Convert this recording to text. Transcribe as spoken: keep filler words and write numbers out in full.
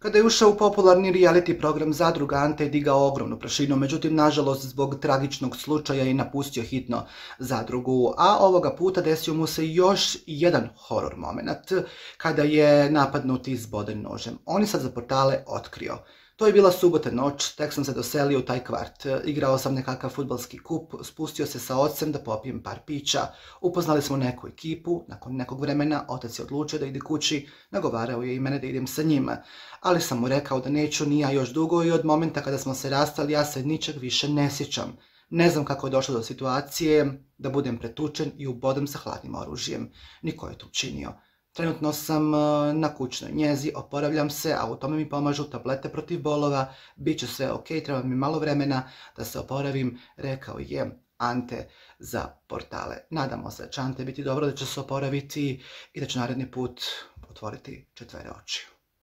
Kada je ušao u popularni reality program Zadruga, Ante je digao ogromnu prašinu, međutim, nažalost, zbog tragičnog slučaja je napustio hitno Zadrugu, a ovoga puta desio mu se još jedan horor moment, kada je napadnut i izboden nožem. On je sad za portale otkrio. To je bila subota noć, tek sam se doselio u taj kvart. Igrao sam nekakav fudbalski kup, spustio se sa ocem da popijem par pića. Upoznali smo neku ekipu, nakon nekog vremena otac je odlučio da ide kući, nagovarao je i mene da idem sa njima. Ali sam mu rekao da neću ni ja još dugo i od momenta kada smo se rastali ja se ničeg više ne sjećam. Ne znam kako je došlo do situacije da budem pretučen i ubodan sa hladnim oružjem. Niko je to učinio. Trenutno sam na kućnoj njezi, oporavljam se, a u tome mi pomažu tablete protiv bolova, bit će sve ok, treba mi malo vremena da se oporavim, rekao je Ante za portale. Nadamo se da će Ante biti dobro, da će se oporaviti i da će naredni put otvoriti četvere oči.